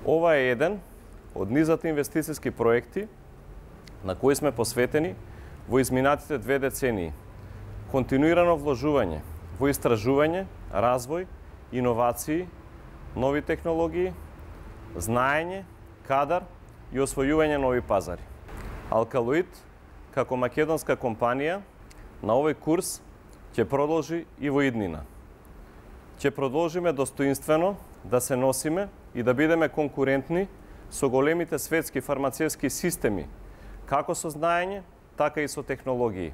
Ова е еден од низот инвестициски проекти на кои сме посветени во изминатите 2 децении. Континуирано вложување во истражување, развој, иновации, нови технологии, знаење, кадар и освојување нови пазари. Алкалоид, како македонска компанија, на овој курс ќе продолжи и во иднина. Ќе продолжиме достоинствено да се носиме и да бидеме конкурентни со големите светски фармацевски системи, како со знаење, така и со технологии.